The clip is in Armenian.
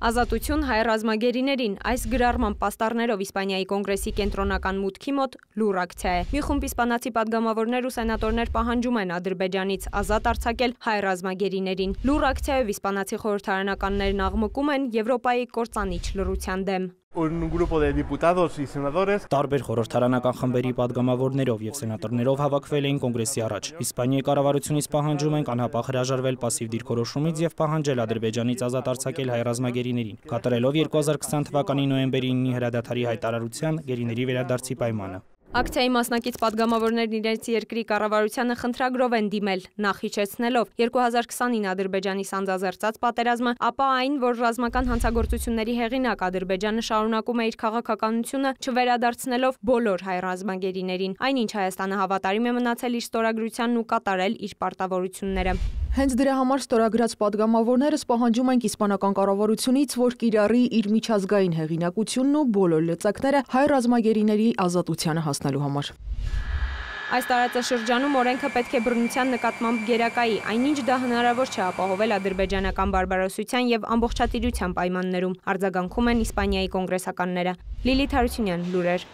Ազատություն հայ ռազմագերիներին այս գրառման պաստառներով Իսպանիայի կոնգրեսի կենտրոնական մուտքի մոտ լուր ակցիա է։ Մի խումբ իսպանացի պատգամավորներ ու սենատորներ պահանջում են Ադրբեջանից ազատ արձակել հայ ռազմագերիներին։ Լուր ակցիայով իսպանացի խորհրդարանականներն աղմկում են Եվրոպայի կործանիչ լռության դեմ։ Տարբեր խորհրդարանական խմբերի պատգամավորներով եւ սենատորներով հավաքվել էին կոնգրեսի առաջ։ Իսպանիայի կառավարությունից պահանջում են անհապաղ հրաժարվել պասիվ դիրքորոշումից եւ պահանջել Ադրբեջանից ազատ արձակել հայ ռազմագերիներին, կատարելով 2020 թվականի նոյեմբերի 9-ի հրադադարի հայտարարության գերիների վերադարձի պայմանը։ Ակցիայի մասնակից պատգամավորներն իրենց երկրի կառավարությանը խնդրագրով են դիմել, նախ իջեցնելով 2020-ին Ադրբեջանի սանձազերծած պատերազմը, ապա այն, որ ռազմական հանցագործությունների հեղինակ Ադրբեջանը շարունակում է իր քաղաքականությունը, չվերադարձնելով բոլոր հայ ռազմագերիներին, այնինչ Հայաստանը հավատարիմ է մնացել իր ստորագրությանն ու կատարել իր պարտավորությունները։ Հենց դրա համար ստորագրած պատգամավորներս պահանջում ենք իսպանական կառավարությունից, որ կիրառի իր միջազգային հեղինակությունն ու բոլոր լծակները հայ ռազմագերիների ազատությանը հասնելու համար։ Այս տարածաշրջանում օրենքը պետք է բռնության նկատմամբ գերակայի, այնինչ դա հնարավոր չէ ապահովել ադրբեջանական բարբարոսության եւ ամբողջատիրության պայմաններում, արձագանքում են Իսպանիայի կոնգրեսականները։ Լիլիթ Հարությունյան, լուրեր։